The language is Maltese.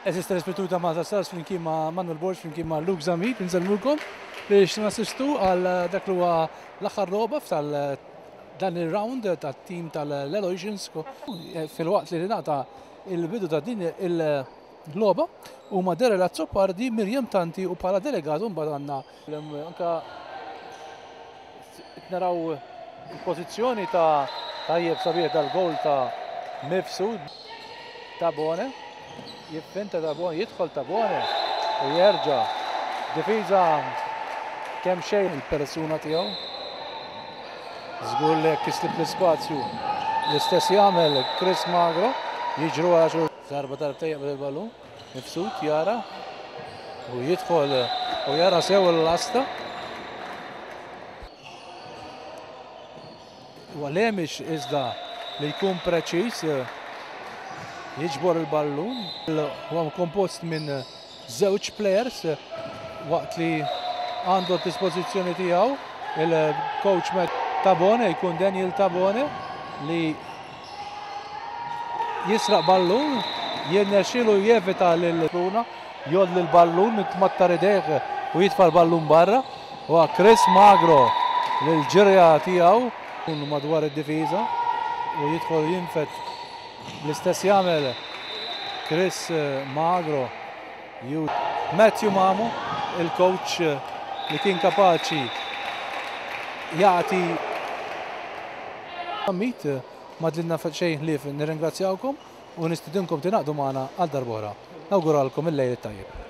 Għeżież telespettaturi ta' Malta Stars flimkien ma' Manuel Borg flimkien ma' Luke Zammit insellmulkom biex nassistu għal dak li huwa l-aħħar logħba f'tal dan ir-round tat-tim tal-Aloysians filwaqt li ngħata il-bidu ta' din il-logħba huma Daryl Azzopardi, Miriam Tanti u bħala delegat mbagħad għandna Anka naraw il-pożizzjoni ta' tajjeb sabiħ dal-goal ta' Mifsud. Tabone, jiffinta Tabone, jidħol Tabone u jerġa' difiża kemm xejn il-persuna tiegħu. Żgur li jekk islib l-ispazju l-istess jagħmel Chris Magro, jiġru għal darba darbtejn jaqbad il-ballun. Mifsud jara u jidħol u jara sew l-lasta. Huwa Lemix iżda li jkun preċiż jiġbor il-ballun. Huwa kompost minn żewġ players waqt li għandu d-dispożizzjoni tiegħu il-coach Matt Tabone jkun Daniel Tabone li Jisraq ballun, jirnexxielu jevita lil Bruna, jgħolli l-ballun, jitmattar idejh u jitfa' l-ballun barra. Huwa Chris Magro li l-ġirja tiegħu madwar id-difiża u jidħol jinfed l-istess jagħmel Chris Magro. Matthew Mamo, il-coach li kien kapaċi jagħti Mit ma dlilna xejn ħlief nirringrazzjawkom u nistidinkom tingħaqdu magħna għal darb'oħra. Nawguralkom il-lejl it-tajjeb.